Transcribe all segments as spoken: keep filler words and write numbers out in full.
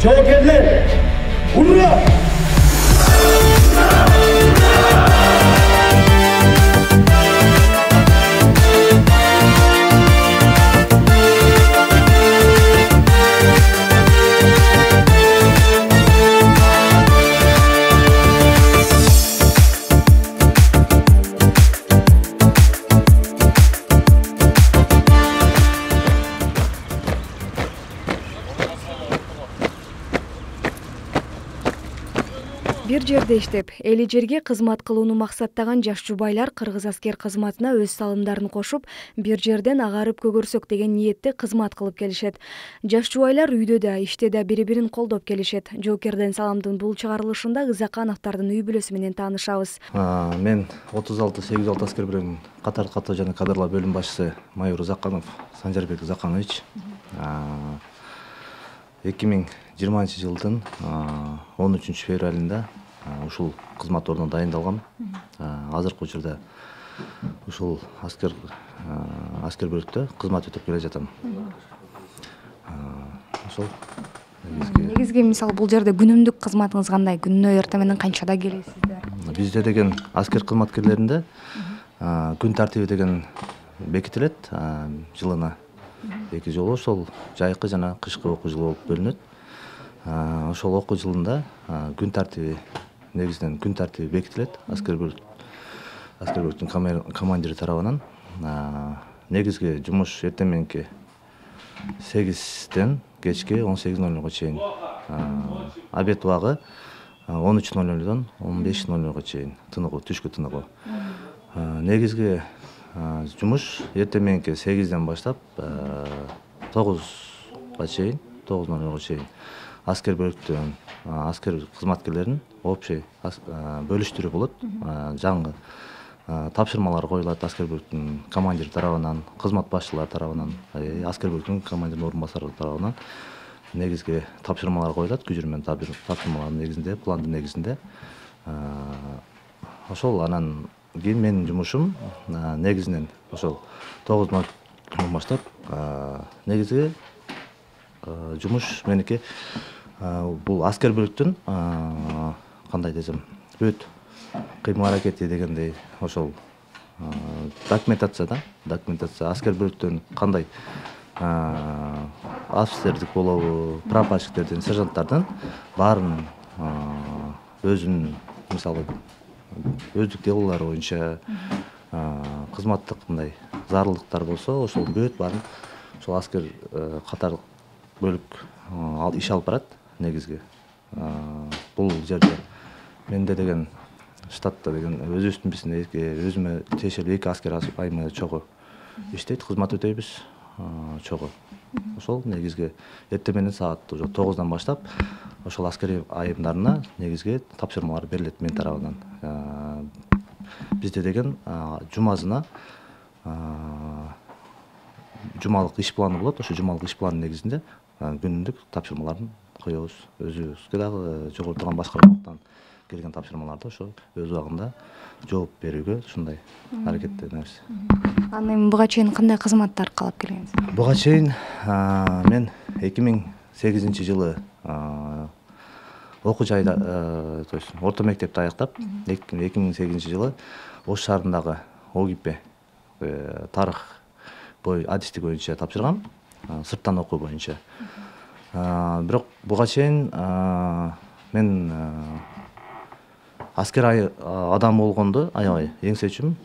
жоокерлер, ура! Бир жерде иштеп, эли жерге кызмат кылууну максаттаган жаш жубайлар кыргыз аскер кызматына өз салымдарын кошуп, бир жерден агарып көгөрсөк деген ниетте кызмат кылып келишет. Жаш жубайлар үйдө да, иште да бири-бирин колдоп келишет. Жоокерден саламдын бул чыгарылышында Ызакановдордун үй бүлөсү менен таанышабыз. Мен отуз алты сегиз алты аскер бөлүмүнүн катар каттоо жана кадрлар бөлүм башчысы майор Ызаканов Санжарбек Ызаканович эки миң жыйырманчы жылдын он үчүнчү февралында ушул кызмат ордуна дайындалгам. Азыркы учурда ушул аскер аскер бөлүктө кызмат өтөп келе жатам. Ошол негизги мисалы бул жерде күнүмдүк кызматыңыз кандай? Күнүнө эртең менен канчада келесиздер? Бизде деген аскер кызматкерлеринде күн тартиби деген бекитилет. Жылына эки жолу ошол жайкы жана кышкы окуу жылы болуп бөлүнөт. Ошол окуу жылында күн тартиби негизинен күн тартиби бекитилет аскер бөлүк аскер бөлүктүн командири тарабынан. Негизги жумуш эртең мененки сегизден кечки он сегиз ноль нолго чейин. Обед убагы он үч ноль нолдон он беш ноль нолго чейин тыныгуу, түшкү тыныгуу. Негизги жумуш эртең мененки сегизден баштап тогузга чейин, тогуз ноль нолго чейин аскер бөлүктүн аскер кызматкерлеринин общий бөлүштүрүү болот. Жаңы тапшырмалар коюлат аскер бөлүктүн командири тарабынан, кызмат башчылары тарабынан, аскер бөлүктүн командиринин орун басары тарабынан негизги тапшырмалар коюлат. Күжүрмөн тапшырмалардын негизинде, пландын негизинде. Ошол анан кийин менин жумушум негизинен ошол тогуз нолдон баштап негизги жумуш меники бул аскер бөлүктүн кандай десем, бүт кыймыл аракети дегендей ошол документация да, документация аскер бөлүктөн кандай офицердик болобу, прапорщиктердин, сержанттардын баарын өзүнүн мисалы өздүк делолору боюнча кызматтык мындай зарылдыктар болсо ошол бүт баарын ошол аскер катар бөлүк иш алып барат негизги. Бул жерде менде деген штатта деген өзүбүздүн бизде өзүмө тиешелүү эки аскер айымы чогуу иштейт, кызмат өтөйбүз чогуу. Ошол негизги эртең менен саат уже тогуздан баштап ошол аскер айымдарына негизги тапшырмалар берилет мен тарабынан. Бизде деген жумасына жумалык иш планы болот. Ошо жумалык иш планынын негизинде күнүмдүк тапшырмаларын коебуз. Өзүбүзгө дагы жогортурган башкармалыктан келген тапшырмаларды ошо өз убагында жооп берүүгө ушундай аракеттенебиз. Аны эми буга чейин кандай кызматтар калап келгенсиз? Буга чейин мен эки миң сегизинчи жылы окуу жайда, то есть орто мектепти аяктап, эки миң сегизинчи жылы Ош шаарындагы ОГИП тарых бой адистик боюнча тапшыргам, сырттан окуу боюнча. Бирок буга чейин мен аскер адам болгонду аябай эңсечүмүн.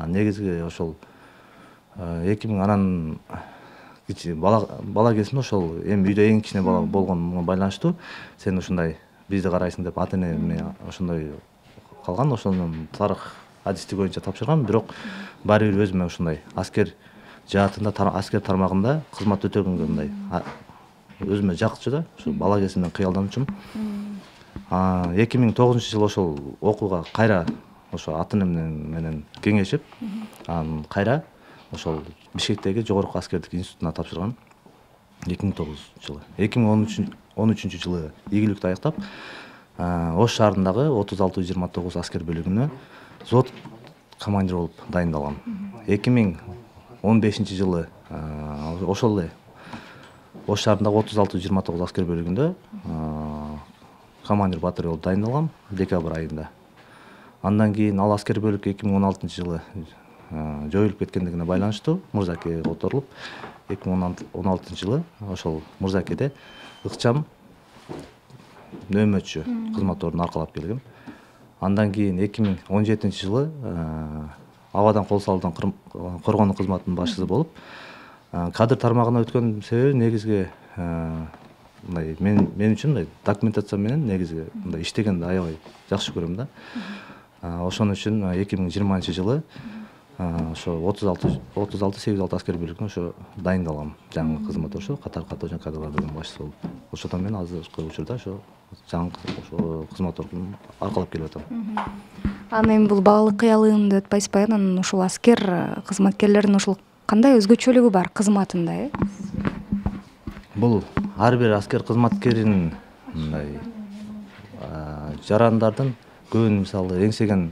Негизги ошол эки миң анан бала кезимде ошол эми үйдө эң кичине бала болгонума байланыштуу сен ушундай бизди карайсың деп ата энеме ошондой калган. Ошонун тарых адистик боюнча тапшыргам. Бирок баары бир өзүмө ушундай аскер жаатында, аскер тармагында кызмат өтөгөнгө мындай өзүмө жакчу да, ушу бала кезимден кыялданчумун. эки миң тогузунчу жылы ошол окууга кайра ошо ата энем менен кеңешип, анан кайра ошол Бишкектеги жогорку аскердик институтуна тапшыргам эки миң тогузунчу жылы. эки миң он үчүнчү жылы ийгиликтүү аяктап, Ош шаарындагы отуз алты жыйырма тогуз аскер бөлүгүнө взвод командир болуп дайындалгам. эки миң он бешинчи жылы ошол эле Ош шаарындагы отуз алты жыйырма тогуз аскер бөлүгүндө командир батыры болуп дайындалгам декабрь айында. Андан кийин ал аскер бөлүк эки миң он алтынчы жылы жоюлуп кеткендигине байланыштуу Мырзакеге которулуп, эки миң он алтынчы жылы ошол Мырзакеде ыкчам нөөмөтчү кызмат ордун аркалап келгем. Андан кийин эки миң он жетинчи жылы абадан кол салуудан коргоонуу кызматынын башчысы болуп, кадр тармагына өткөн себеби негизги мындай мен мен үчүн мындай документация менен негизги мындай иштегенди аябай жакшы көрөм да. Ошон үчүн эки миң жыйырманчы жылы ошо отуз алты сегиз алты аскер бөлүгүнө ошо дайындалгам. Жаңы кызмат ошо катар катуу жана кадрлар бөлүмүнүн башчысы болуп. Ошондон мен азыркы учурда ошо жаңы ошо кызмат ордун аркалап келип атам. Анан эми бул баалык кыялыгында өтпөйсүзбү? Анан ушул аскер кызматкерлеринин ушул кандай өзгөчөлүгү бар кызматында, э? Бул ар бир аскер кызматкеринин мындай жарандардын көбүн мисалы эңсеген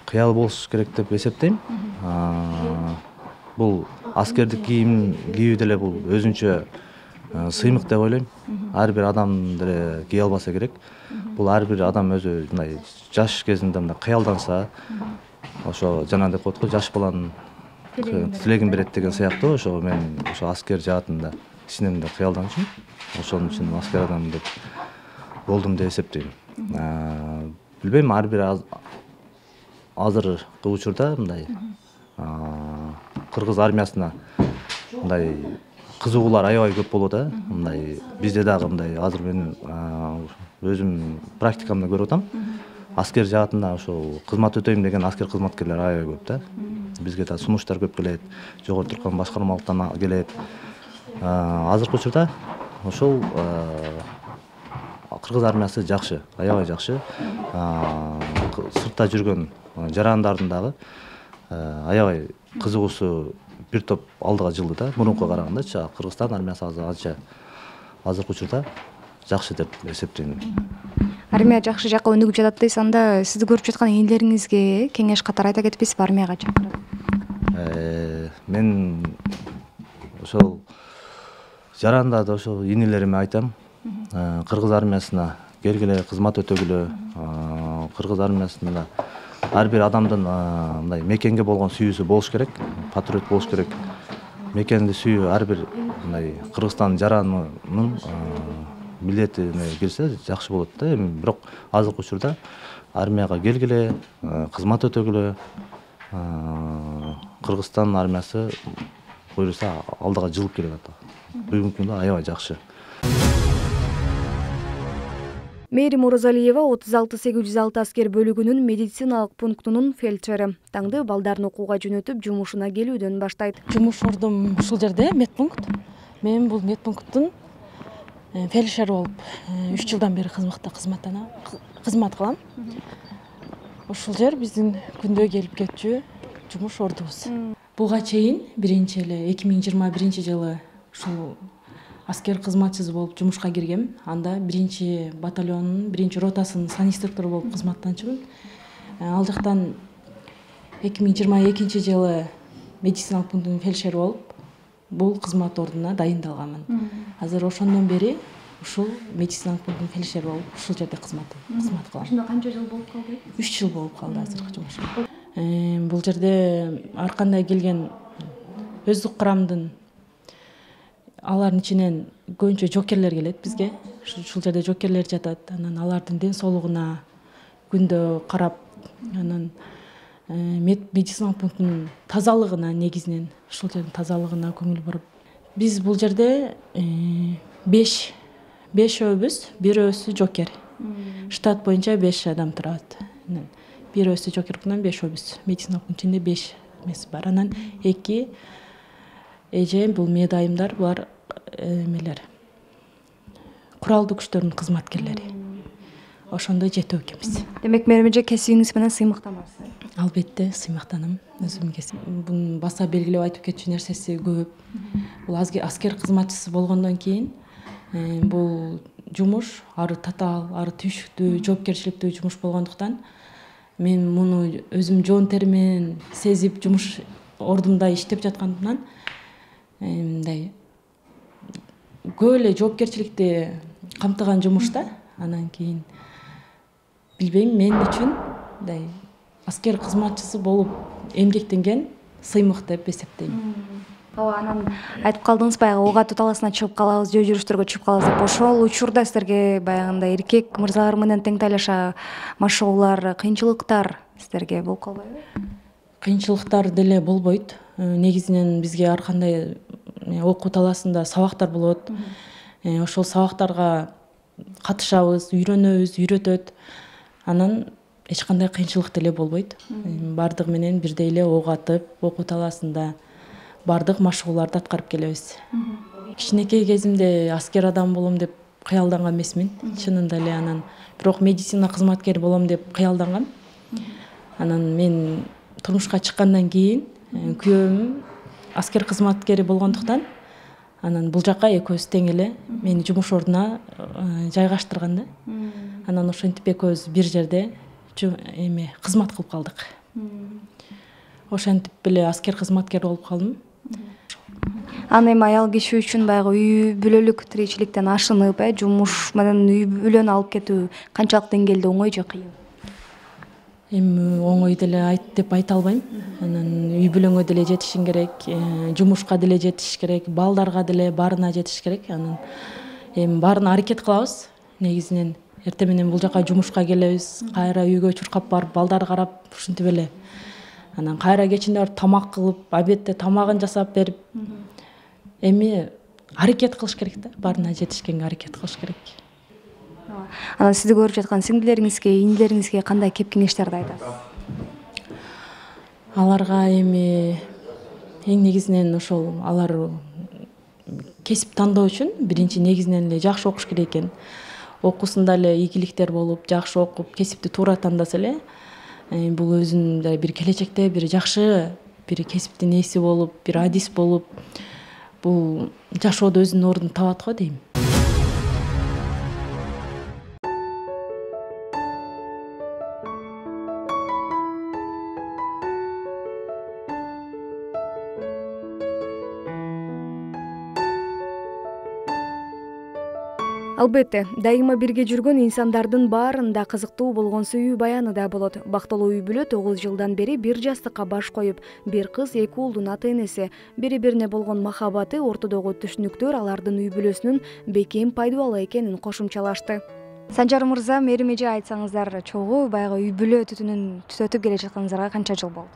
кыялы болуш керек деп эсептейм. Бул аскердик кийим кийүү деле бул өзүнчө сыймык деп ойлойм. Ар бир адам деле кие албаса керек. Бул ар бир адам өзү мындай жаш кезинде мындай кыялданса, ошо жана деп коет го, жаш баланын тилегин берет деген сыяктуу. Ошо мен ошо аскер жаатында ичинемде кыялданчумун. Ошон үчүн аскер адам деп болдум деп эсептейм. Билбейм, ар бир азыркы учурда мындай кыргыз армиясына мындай кызыгуулар аябай көп болот да. Мындай бизде дагы мындай азыр мен өзүм практикамда көрүп атам. Аскер жаатында ошол кызмат өтөйм деген аскер кызматкерлер аябай көп да. Бизге да сунуштар көп келет, жогору турган башкармалыктан келет. Азыркы учурда ошол кыргыз армиясы жакшы, аябай жакшы. Сыртта жүргөн жарандардын дагы аябай кызыгуусу бир топ алдыга жылды да. Мурункуга карагандачы Кыргызстан армиясы азыр анча азыркы учурда жакшы деп эсептейм. Армия жакшы жакка өнүгүп жатат дейсиз. Анда сизди көрүп жаткан энелериңизге кеңеш катары айта кетпейсизби армияга чакырып? Мен ошол жарандарды ошол энелериме айтам. Кыргыз армиясына келгиле, кызмат өтөгүлө. Кыргыз армиясында ар бир адамдын мындай мекенге болгон сүйүүсү болуш керек, патриот болуш керек. Мекенди сүйүү ар бир мындай Кыргызстан жаранынын милдетине кирсе жакшы болот да. Эми бирок азыркы учурда армияга келгиле, кызмат өтөгүлө. Кыргызстан армиясы буюрса алдыга жылып келе жатат. Бүгүнкү күндө аябай жакшы. Мээрим Оразалиева отуз алты сегиз жүз алты аскер бөлүгүнүн медициналык пунктунун фельдшери. Таңды балдарын окууга жөнөтүп, жумушуна келүүдөн баштайт. Жумуш ордум ушул жерде, медпункт. Мен бул медпункттун фельдшери болуп үч жылдан бери кызматта кызматтана кызмат кылам. Ушул жер биздин күндө келип кетчү жумуш ордубуз. Буга чейин биринчи эле эки миң жыйырма биринчи жылы ушул аскер кызматчысы болуп жумушка киргем. Анда биринчи батальондун биринчи ротасынын санинструктору болуп кызматтанчумун. Ал жактан эки миң жыйырма экинчи жылы медициналык пунктунун фельдшери болуп бул кызмат ордуна дайындалганмын. Азыр ошондон бери ушул медициналык пунктунун фельдшери болуп ушул жерде кызмат кызмат кылам. Ошондо канча жыл болуп калды? үч жыл болуп калды азыркы жумушум. Бул жерде ар кандай келген өздүк курамдын алардын ичинен көбүнчө жокерлер келет бизге. Ушул жерде жокерлер жатат. Анан алардын ден соолугуна күндө карап, анан медициналык пунктунун тазалыгына негизинен ушул жердин тазалыгына көңүл буруп. Биз бул жерде беш бешөөбүз, бирөөсү жокер. Штат боюнча беш адам турат. Бирөөсү жокер менен бешөөбүз. Медициналык пункттун ичинде беш эмеси бар. Анан эки эже бул медайымдар, булар эмелер куралдуу күчтөрдүн кызматкерлери. Ошондой жетөө экенбиз. Демек мээрим эже кесибиңиз менен сыймыктанасыз? Албетте сыймыктанам. Өзүм кесип. Бунун баса белгилеп айтып кетчү нерсеси көп. Бул аскер кызматчысы болгондон кийин бул жумуш ары татаал, ары түйшүктүү, жоопкерчиликтүү жумуш болгондуктан мен муну өзүм жоон тери менен сезип жумуш ордумда иштеп жаткандыктан мындай көп эле жоопкерчиликти камтыган жумуш да. Анан кийин билбейм, мен үчүн мындай аскер кызматчысы болуп эмгектенген сыймык деп эсептейм. Ооба, анан айтып калдыңыз, баягы ок атуу таласына чыгып калабыз, жөө жүрүштөргө чыгып калабыз деп. Ошол учурда сиздерге баягындай эркек мырзалар менен тең талаша машыгуулар, кыйынчылыктар сиздерге болуп калбайбы? Кыйынчылыктар деле болбойт. Негизинен бизге ар кандай окуу таласында сабактар болот. Ошол сабактарга катышабыз, үйрөнөбүз, үйрөтөт. Анан эч кандай кыйынчылык деле болбойт. Бардыгы менен бирдей эле ок атып, окуу таласында бардык машыгууларды аткарып келебиз. Кичинекей кезимде аскер адам болом деп кыялданган эмесмин, чынында эле. Анан бирок медицина кызматкери болом деп кыялдангам. Анан мен турмушка чыккандан кийин күйөөм аскер кызматкери болгондуктан анан бул жака экөөбүз тең эле мени жумуш ордуна жайгаштырган да. Анан ошентип экөөбүз бир жерде эме кызмат кылып калдык. Ошентип эле аскер кызматкери болуп калдым. Аны эми аял киши үчүн баягы үй бүлөлүк тиричиликтен ашынып, э, жумуш менен үй бүлөнү алып кетүү канчалык деңгээлде оңой же кыйын? Эми оңой деле айт деп айта албайм. Анан үй бүлөңө деле жетишиң керек, жумушка деле жетиш керек, балдарга деле баарына жетиш керек. Анан эми баарына аракет кылабыз. Негизинен эртең менен бул жака жумушка келебиз, кайра үйгө чуркап барып балдар карап ушинтип эле. Анан кайра кечинде барып тамак кылып, обедте тамагын жасап берип, эми аракет кылыш керек да, баарына жетишкенге аракет кылыш керек. Анан сизди көрүп жаткан сиңдилериңизге, инилериңизге кандай кеп кеңештерди айтасыз? Аларга эми эң негизинен ошол алар кесип тандоо үчүн биринчи негизинен эле жакшы окуш керек экен. Окуусунда эле ийгиликтер болуп, жакшы окуп, кесипти туура тандаса эле, бул өзүнүн бир келечекте бир жакшы бир кесиптин ээси болуп, бир адис болуп, бул жашоодо өзүнүн ордун табат го дейм. Албетте, дайыма бирге жүргөн инсандардын баарында кызыктуу болгон сүйүү баяны да болот. Бактылуу үй бүлө тогуз жылдан бери бир жастыкка баш коюп, бир кыз эки уулдун ата-энеси, бири-бирине болгон махабаты, ортодогу түшүнүктөр алардын үй бүлөсүнүн бекем пайдалуу экенин кошумчалашты. Санжар мырза, мээрим эже, айтсаңыздар, чогуу баягы үй бүлө түтүнүн түзөтүп келе жатканыңыздарга канча жыл болду?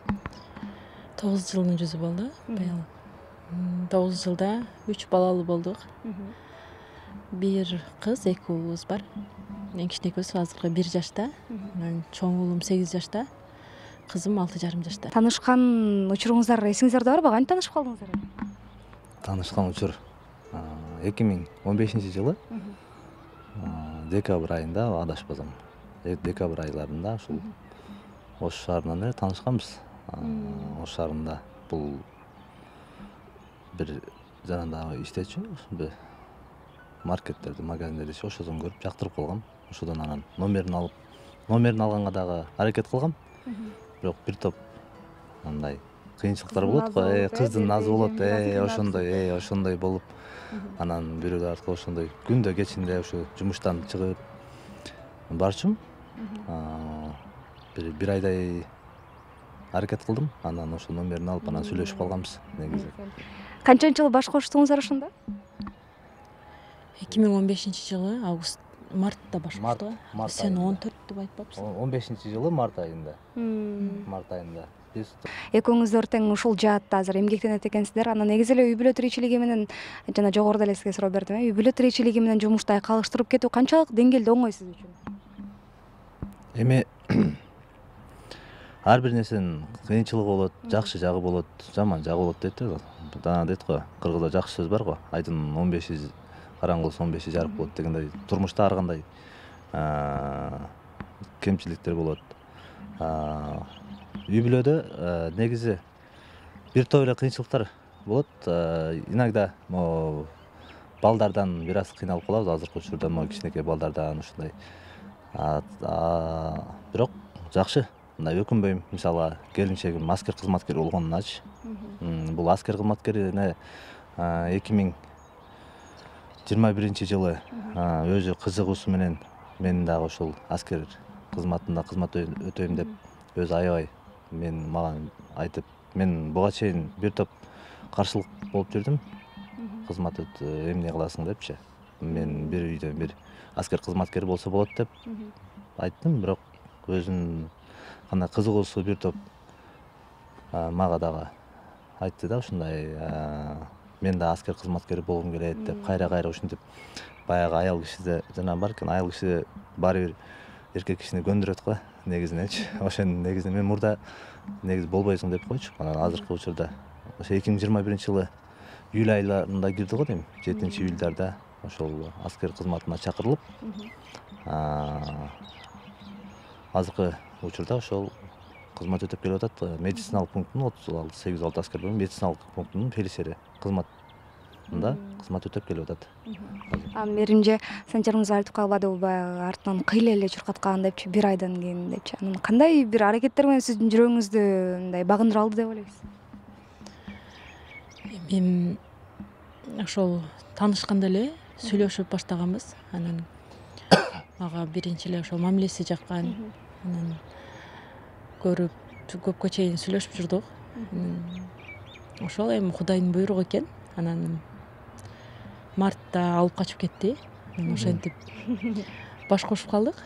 тогуз жылдын жүзү болду. Быйыл тогуз жылда үч балалуу болдук. Бир кыз, эки уулубуз бар. Эң кичинекөөсү азыркы бир жашта, анан чоң уулум сегиз жашта, кызым алты жарым жашта. Таанышкан учуруңуздар эсиңиздарда барбы? Кантип таанышып калдыңыздар? Таанышкан учур эки миң он бешинчи жылы декабрь айында, адашпасам, декабрь айларында ушул Ош шаарынан эле таанышканбыз. Ош шаарында бул бир жанагы иштечү, маркеттерди, магазиндерди ошодон көрүп жактырып калгам. Ошодон анан номерин алып, номерин алганга дагы аракет кылгам. Бирок бир топ андай кыйынчылыктар болот го, э, кыздын назы болот, э, ошондой, э, ошондой болуп, анан бирөө аркылуу ошондой күндө кечинде ушу жумуштан чыгып барчумун. Бир бир айдай аракет кылдым. Анан ошол номерин алып, анан сүйлөшүп калганбыз негизи. Канчанчы жылы баш коштуңуздар ошондо? эки миң он бешинчи жылы август мартта баш коштук. Сен он төрт деп айтпапсың? он бешинчи жылы март айында. Март айында. Экөөңүздөр тең ушул жаатта азыр эмгектенет экенсиздер. Анан негизи эле үй бүлө тиричилиги менен жана жогоруда эле сизге суроо бердим, э, үй бүлө тиричилиги менен жумуштай калыштырып кетүү канчалык деңгээлде оңой сиз үчүн? Эми ар бир нерсенин кыйынчылыгы болот, жакшы жагы болот, жаман жагы болот дейт го. Дана дейт го, кыргызда жакшы сөз бар го. Айдын он беши караңгылык он беши жарык болот дегендей. Турмушта ар кандай кемчиликтер болот. Үй бүлөдө негизи бир топ эле кыйынчылыктар болот. Иногда могу балдардан бир аз кыйналып калабыз, азыркы учурда могу кичинекей балдардан ушундай. Бирок жакшы, мындай өкүнбөйм. Мисалы, келинчегим аскер кызматкери болгонуначы. Бул аскер кызматкерине эки миң жыйырма биринчи жылы өзү кызыгуусу менен мен дагы ушул аскер кызматында кызмат өтөйм деп өзү аябай мен мага айтып, мен буга чейин бир топ каршылык болуп жүрдүм. Кызмат эмне кыласың депчи. Мен бир үйдө бир аскер кызматкери болсо болот деп айттым, бирок өзүнүн кандай кызыгуусу бир топ мага дагы айтты да, ушундай мен да аскер кызматкери болгум келет деп, кайра-кайра ушинтип баягы аял кишиде жана бар экен, аял киши баары бир эркек кишини көндүрөт го негизиненчи. Ошонун негизинен мен мурда негизи болбойсуң деп койчу. Анан азыркы учурда ошо эки миң жыйырма биринчи жылы июль айларында кирди го дейм, жетинчи июльдарда ошол аскер кызматына чакырылып, азыркы учурда ошол кызмат өтөп келип атат. Медициналык пункттун отуз алты сегиз алты аскер бөлүм медициналык пунктунун фельдшери кызматында кызмат өтөп келип атат. А Мээримже Санжарыңыз айтып калбадыбы баягы артынан кыйла эле чуркаткан депчи, бир айдан кийин депчи. Анан кандай бир аракеттер менен сиздин жүрөгүңүздү мындай багындыра алды деп ойлойсуз? Мен ошол таанышканда эле сүйлөшүп баштаганбыз. Анан мага биринчи эле ошол мамилеси жаккан. Анан көрүп көпкө чейин сүйлөшүп жүрдүк. Ошол эми Кудайдын буйругу экен. Анан мартта алып качып кетти. Ошентип баш кошуп калдык.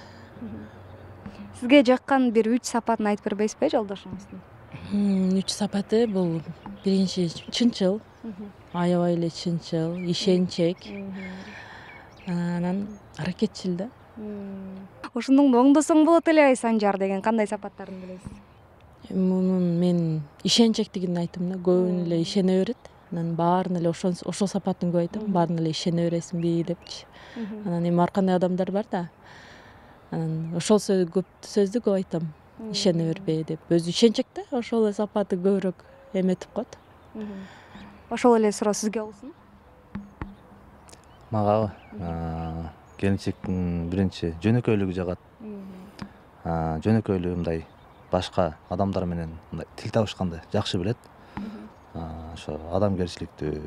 Сизге жаккан бир үч сапатын айтып бербейсизби жолдошуңуздун? Үч сапаты бул биринчи чынчыл, аябай эле чынчыл, ишенчек. Анан аракетчил да. Ошондон оңдосоң болот эле ай Санжар деген кандай сапаттарын билесиз? Мунун мен ишенчектигин айттым да, көбүнө эле ишене берет. Анан баарына эле ошол ошол сапатын көп айтам, баарына эле ишене бересиңби депчи. Анан эми ар кандай адамдар бар да. Анан ошол сөз көп сөздү көп айтам. Ишене бербе деп. Өзү ишенчек да, ошол эле сапаты көбүрөөк эметип коет. Ошол эле суроо сизге болсун. Мага келинчектин биринчи жөнөкөйлүгү жагат. Жөнөкөйлүгү мындай башка адамдар менен мындай тил табышканды жакшы билет. Ошо адамгерчиликтүү.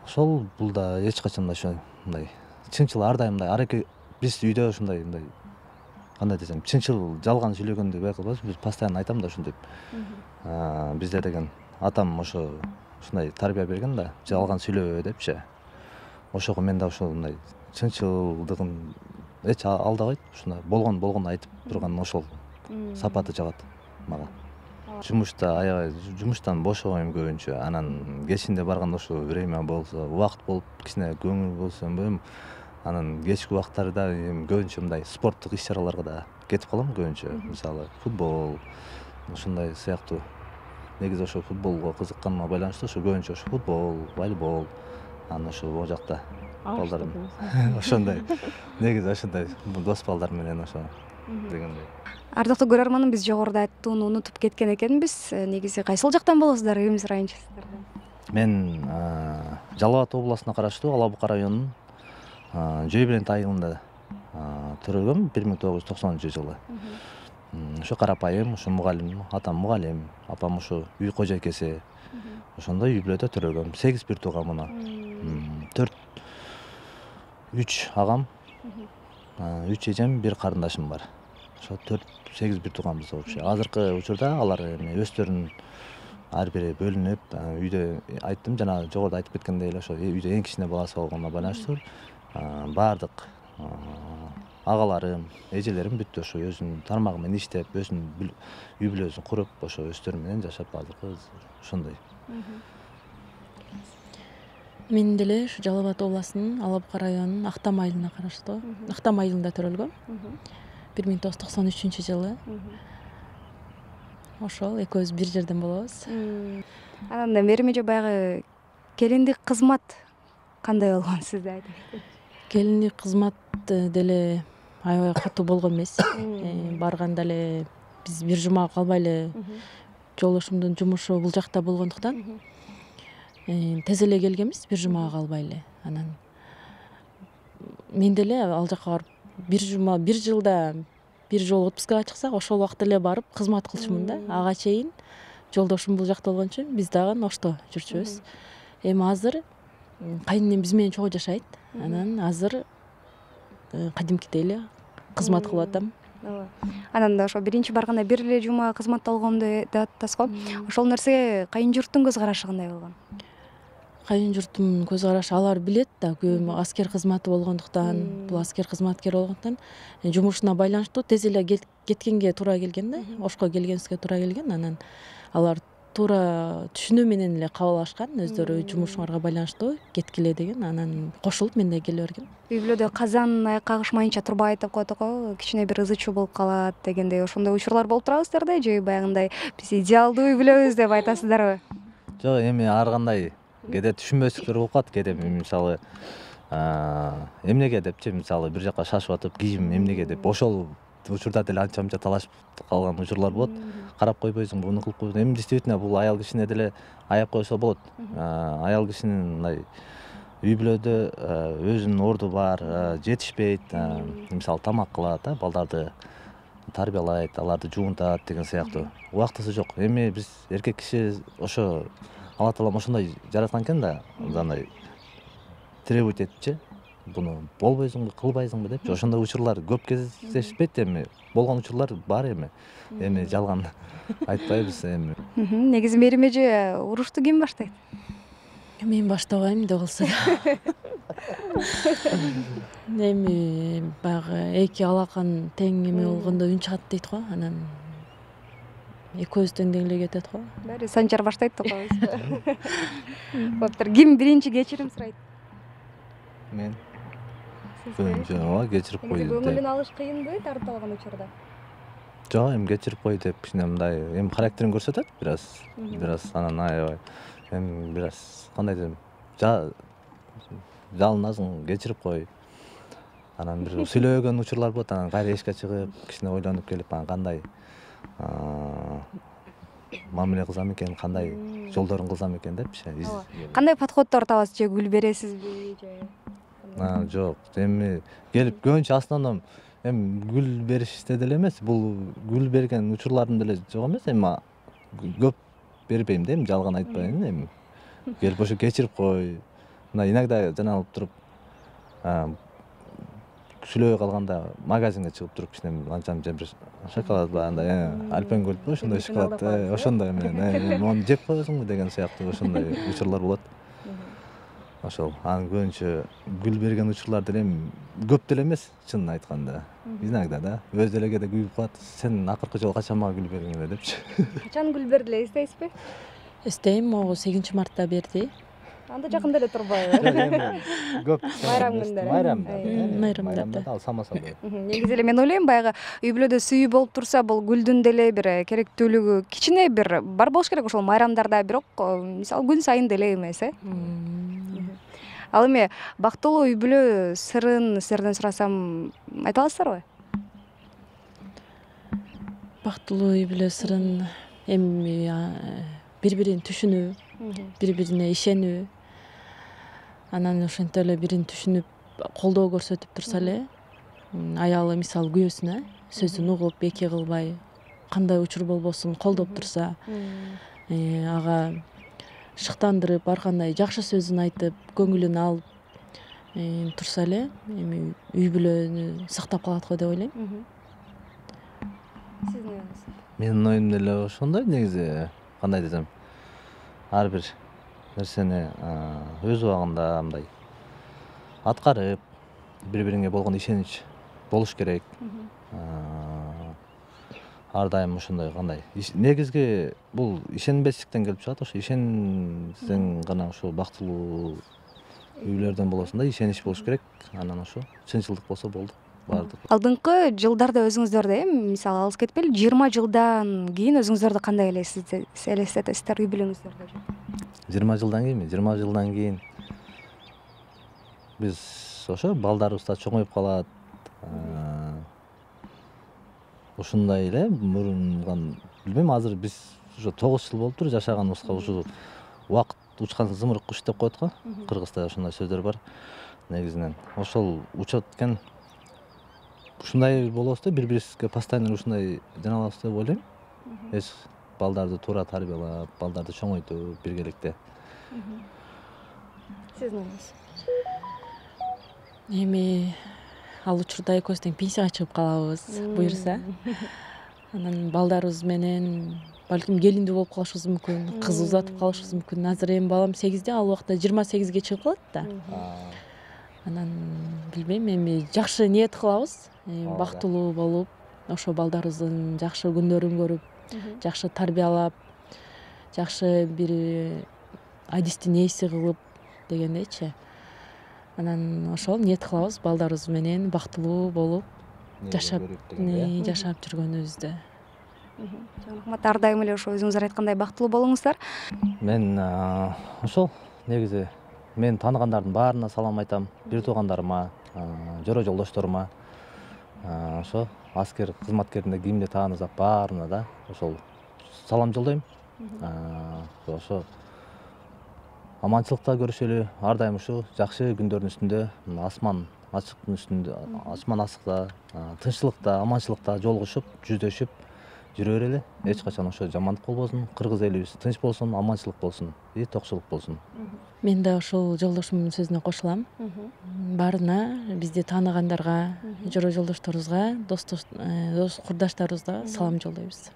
Ошол бул да эч качан да ошо мындай чынчыл ар дайым мындай аракет. Биз үйдө ушундай мындай кандай десем, чынчыл жалган сүйлөгөндү бай кылбайбыз. Биз постоянно айтам да ушинтип. Бизде деген атам ошо ушундай тарбия берген да, жалган сүйлөбө депчи. Ошого мен да ошол мындай чынчылдыгын эч алдабайт. Ушундай болгон болгон айтып турган ошол сапаты жагат мага. Жумушта аябай жумуштан бошобойм көбүнчө. Анан кечинде барганда ошо время болсо, убакыт болуп кичине көңүл болсо эми анан кечки убакыттарда эми көбүнчө мындай спорттук иш-чараларга да кетип калам көбүнчө. Мисалы, футбол, ушундай сыяктуу. Негизи ошо футболго кызыкканыма байланыштуу ошо көбүнчө ошо футбол, волейбол, анан ошо могу жакта балдар ошондой. Негизи ошондой дос балдар менен ошо дегендей. Ардактуу көрөрманым, биз жогоруда айттууну унутуп кеткен экенбиз. Негизи кайсыл жактан болосуздар, эми сурайынчы сиздерден? Мен Жалал Абад областына караштуу Ала Бука районунун Жөйбүлент айылында төрөлгөм бир миң тогуз жүз токсонунчу жылы. Ошо карапайым, ошо мугалим, атам мугалим, апам ошо үй кожойкеси. Ошондой үй бүлөдө төрөлгөм. сегиз бир туугам, төрт үч агам, үч эжем, бир карындашым бар. Ошо төрт сегиз бир тууганбыз вообще. Азыркы учурда алар эми өздөрүнүн ар бири бөлүнүп, үйдө айттым, жана жогоруда айтып кеткендей эле ошо үйдө эң кичине баласы болгонуна байланыштуу баардык агаларым, эжелерим бүттү ошо өзүнүн тармагы менен иштеп, өзүнүн үй бүлөсүн куруп, ошо өздөрү менен жашап азыркы ошондой. Мен деле ушу Жалал Абад областынын Ала Бука районунун Актам айылына караштуу Актам айылында төрөлгөм. бир миң тогуз жүз токсон үчүнчү жылы. Ошол экөөбүз бир жерден болобуз. Анан Мээрим эже баягы келиндик кызмат кандай болгон сизде айтыңыз? Келиндик кызмат деле аябай катуу болгон эмес. Барганда эле биз бир жума калбай эле жолдошумдун жумушу бул жакта болгондуктан тез эле келгенбиз, бир жумага калбай эле. Анан мен деле ал жака барып бир жума, бир жылда бир жолу отпускага чыксак, ошол убакта эле барып кызмат кылчумун да. Ага чейин жолдошум бул жакта болгон үчүн биз дагы ошто жүрчүбүз. Эми азыр кайненем биз менен чогуу жашайт. Анан азыр кадимкидей эле кызмат кылып атам. ооба. Анан ошо биринчи барганда бир эле жума кызматта болгом деп атасыз го. Ошол нерсеге кайын журттун көз карашы кандай болгон? Кайын журттун көз карашы алар билет да, көбү аскер кызматы болгондуктан, бул аскер кызматкер болгондуктан жумушуна байланыштуу тез эле кеткенге туура келген да, ошко келгенибизге туура келген. Анан алар туура түшүнүү менен эле кабыл алышкан, өздөрү жумушуңарга байланыштуу кеткиле деген. Анан кошулуп мен да келе берген. Үй бүлөдө казан аяк кагышмайынча турбайт деп коет го, кичине бир ызы чуу болуп калат дегендей, ошондой учурлар болуп турабыздарбы же баягындай биз идеалдуу үй бүлөбүз деп айтасыздарбы? Жок, эми ар кандай кээде түшүнбөстүктөр болуп калат. Кээде мисалы эмнеге депчи, мисалы бир жака шашып атып кийим эмнеге деп ошол учурда деле анча мынча талашып калган учурлар болот. Карап койбойсуң, буну кылып койбойсуң. Эми действительно бул аял кишине деле аяп койсо болот. Аял кишинин мындай үй бүлөдө өзүнүн орду бар, жетишпейт, мисалы тамак кылат, балдарды тарбиялайт, аларды жуунтат деген сыяктуу. Убактысы жок. Эми биз эркек киши ошо Алла Таалам ошондой жараткан экен да, андай требовать этипчи, буну болбойсуңбу, кылбайсыңбы депчи. Ошондой учурлар көп кездешпейт эми. Болгон учурлар бар эми. Эми жалган айтпайбыз эми. Негизи Мээрим эже урушту ким баштайт? Мен баштабайм да болсо да. Эми баягы эки алакан тең эме болгондо үн чыгат дейт го. Анан экөөбүз тең эле кетет го. Баары Санчар баштайт деп коебузбу? Боптур. Ким биринчи кечирим сурайт? Мен. Көбүнчө ооба кечирип кой деп. Көңүлүн алыш кыйынбы тартып алган учурда? Жок, эми кечирип кой деп кичине мындай эми характерин көрсөтөт бир аз. Бир аз анан аябай. Эми бир аз кандай десем, жалынасың, кечирип кой. Анан бир сүйлөгөн учурлар болот, анан кайра эшикке чыгып, кичине ойлонуп келип, анан кандай мамиле кылсам экен, кандай жолдорун кылсам экен депчи. Кандай подходдор табасыз? Же гүл бересизби же? Жок, эми келип көбүнчө основном эми гүл бериште деле эмес, бул гүл берген учурлардын деле жок эмес, эми көп бербейм да, эми жалган айтпайын эми. Келип ошо кечирип кой. Мына иногда жана алып туруп сүйлөбөй калганда магазинге чыгып туруп кичине анча мынча бир шоколад бар, андай альпенгольдбу ошондой шоколад, ошондой менен мону жеп коесуңбу деген сыяктуу ошондой учурлар болот. Ошол анан көбүнчө гүл берген учурлар деле эми көп деле эмес, чынын айтканда. Иногда да өз деле кээде күйүп калат. Сен акыркы жолу качан мага гүл бердиң эле депчи. Качан гүл бердиле, эстейсизби? Эстейм, могу сегизинчи мартта берди. Анда жакында эле турбайбы? Көп Байрам күндөрү. Байрамда. Майрамдарда. Ал самаса болот. Негизи эле мен ойлойм, баягы үй бүлөдө сүйүү болуп турса, бул гүлдүн деле бир керектүүлүгү кичине бир бар болуш керек ошол майрамдарда, бирок мисалы күн сайын деле эмес, э? Ал эми бактылуу үй бүлө сырын сиздерден сурасам, айта аласыздарбы? Бактылуу үй бүлө сырын эми бири-бирин түшүнүү, бири-бирине ишенүү, анан ошентип эле бирин түшүнүп, колдоо көрсөтүп турса эле, аялы мисалы күйөөсүнө сөзүн угуп, эки кылбай, кандай учур болбосун колдоп турса, ага шыктандырып, ар кандай жакшы сөзүн айтып, көңүлүн алып турса эле, эми үй бүлөнү сактап калат го деп ойлойм. Сиздин оюңуз? Менин оюм деле ошондой негизи, кандай десем, ар бир нерсени өз убагында мындай аткарып, бири-бириңе болгон ишенич болуш керек. Ар дайым ошондой кандай негизги бул ишенбестиктен келип чыгат. Ошо ишенсең гана ошо бактылуу үй бүлөлөрдөн болосуң да, ишенич болуш керек. Анан ошо чынчылдык болсо болду. Бардык. Алдыңкы жылдарда өзүңүздөрдү, эми мисалы алыс кетпейли, жыйырма жылдан кийин өзүңүздөрдү кандай элестетесиздер үй бүлөңүздөрдү? жыйырма жылдан кийинби? жыйырма жылдан кийин биз ошо балдарыбыз да чоңоюп калат. Ушундай эле мурунган билбейм, азыр биз ошо тогуз жыл болуптур жашаганыбызга. Ушу убакыт учкан зымырык куш деп коет го. Кыргызда ошондой сөздөр бар негизинен. Ошол учат экен. Ушундай болобуз да, бири-бирибизге постоянно ушундай жаналабыз деп ойлойм. Эч балдарды туура тарбиялап, балдарды чоңойтуп биргеликте. Сиздин оюңуз? Эми ал учурда экөөбүз тең пенсияга чыгып калабыз, буюрса. Анан балдарыбыз менен балким келиндүү болуп калышыбыз мүмкүн, кыз узатып калышыбыз мүмкүн. Азыр эми балам сегизде, ал убакта жыйырма сегизге чыгып калат да. Анан билбейм, эми жакшы ниет кылабыз, бактылуу болуп, ошо балдарыбыздын жакшы күндөрүн көрүп, жакшы тарбиялап, жакшы бир адистин ээси кылып дегендейчи. Анан ошол ниет кылабыз балдарыбыз менен бактылуу болуп жашап жашап жүргөнүбүздө. Жан Ахмат, ар дайым эле ошо өзүңүздөр айткандай бактылуу болуңуздар. Мен ошол негизи мен тааныгандардын баарына салам айтам, бир туугандарыма, жора жолдошторума, ошо аскер кызматкерине кимди таанысак баарына да ошол салам жолдойм. Ошо аманчылыкта көрүшөлү, ар дайым ушу жакшы күндөрдүн үстүндө, асман ачыктын үстүндө, асман ачыкта, тынччылыкта, аманчылыкта жолугушуп, жүздөшүп жүрө берели. Эч качан ошо жамандык болбосун, кыргыз элибиз тынч болсун, аманчылык болсун, и токчулук болсун. Мен да ошол жолдошумдун сөзүнө кошулам. Баарына, бизди тааныгандарга, жора жолдошторубузга, дос курдаштарыбызга салам жолдойбуз.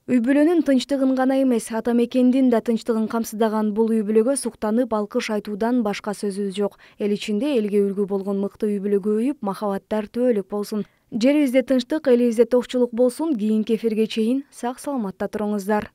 Үй бүлөнүн тынчтыгын гана эмес, ата мекендин да тынчтыгын камсыздаган бул үй бүлөгө суктанып алкыш айтуудан башка сөзүбүз жок. Эл ичинде элге үлгү болгон мыкты үй бүлө көбөйүп, махабаттар түбөлүк болсун. Жерибизде тынчтык, элибизде токчулук болсун. Кийинки эфирге чейин сак саламатта туруңуздар.